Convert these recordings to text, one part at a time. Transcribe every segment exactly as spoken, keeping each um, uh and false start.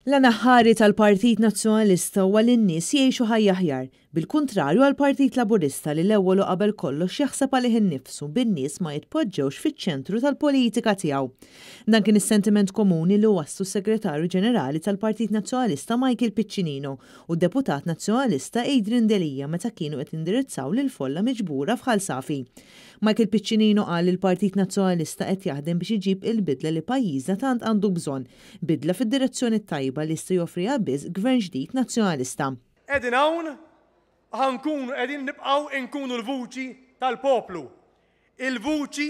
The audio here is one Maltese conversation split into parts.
L-għan aħħari tal-Partit Nazzjonalista huwa li n-nies jgħixu ħajja aħjar, bil-kuntrarju għall-Partit Laburista li l-ewwel u qabel kollox jaħseb għalih innifsu bin-nies ma jitpoġġewx fiċ-ċentru tal-politika tiegħu. Dan kien is-sentiment komuni li wasslu s-Segretarju Ġenerali tal-Partit Nazzjonalista Michael Piccinino u d-Deputat Nazzjonalista Adrian Delia meta kienu qed jindirizzaw lill-folla miġbura f'Ħal Safi. Michael Piccinino qal li l-Partit Nazzjonalista qed jaħdem biex iġib il-bidla li pajjiżna tant għandu bżonn, bidla fid-direzzjoni tajba li jista' joffriha biss gvern ġdid Nazzjonalista. Qegħdin hawn, ħa nkunu qegħdin nibqgħu nkunu l-vuċi tal-poplu. Il-vuċi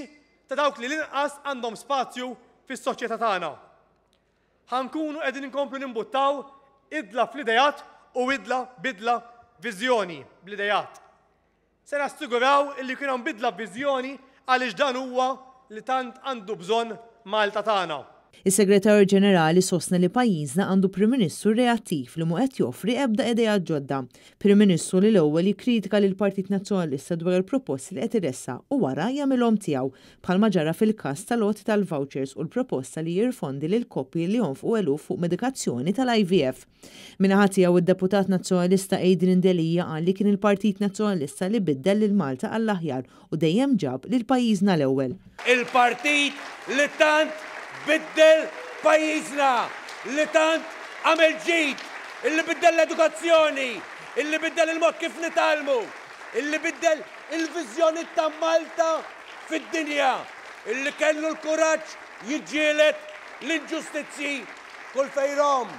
ta' dawk li l-inqas għandhom spazju fis-soċjetà tagħna. Ħa nkunu qegħdin inkomplu nimbuttaw bidla fl-ideat u idla bidla viżjoni bl-ideat. Se nassiguraw illi kien hemm bidla viżjoni għaliex dan huwa li tant għandu bżonn Malta tagħna. Is-Segretarju Ġenerali sostna li pajjiżna għandu Prim Ministru reattiv li mhu qed joffri ebda idea ġodda. Prim Ministru li l-ewwel jikkritika lil Partit Nazzjonalista dwar il-proposti li qed iressaq u wara jagħmilhom tiegħu, bħalma ġara fil-każ tal-għoti tal-vouchers u l-proposta li jirrifondi lil koppji li jonfqu eluf fuq medikazzjoni tal-I V F. Min-naħa tiegħu, id-Deputat Nazzjonalista Adrian Delia qal li kien il-Partit Nazzjonalista li biddel lil Malta għall-aħjar u dejjem ġab lil pajjiżna l-ewwel. Il-partit li tant biddel pajjiżna, li tant għamel ġid, illi biddel l-edukazzjoni, illi biddel il-mod kif nitgħallmu, illi biddel il-viżjoni ta' Malta fid-dinja, illi kellu l-kuraġġ jiġġieled l-inġustizzi kull fejn rom.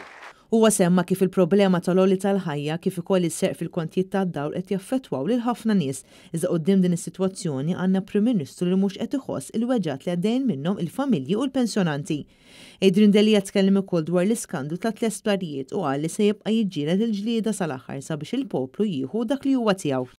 Huwa semma kif il-problema tal-għoli tal-ħajja kif ukoll is-serq fil-kontijiet tad-dawl qed jaffettwaw lil ħafna nies. Iżda quddiem din is-sitwazzjoni għandna Prim Ministru li mhux qed iħoss il-weġgħat li għaddejn minnhom il-familji u l-pensjonanti. Adrian Delia tkellem ukoll dwar l-iskandlu ta' tliet sptarijiet u qal li se jibqa' jiġġieled il-ġlieda sal-aħħar sabiex il-poplu jieħu dak li huwa tiegħu.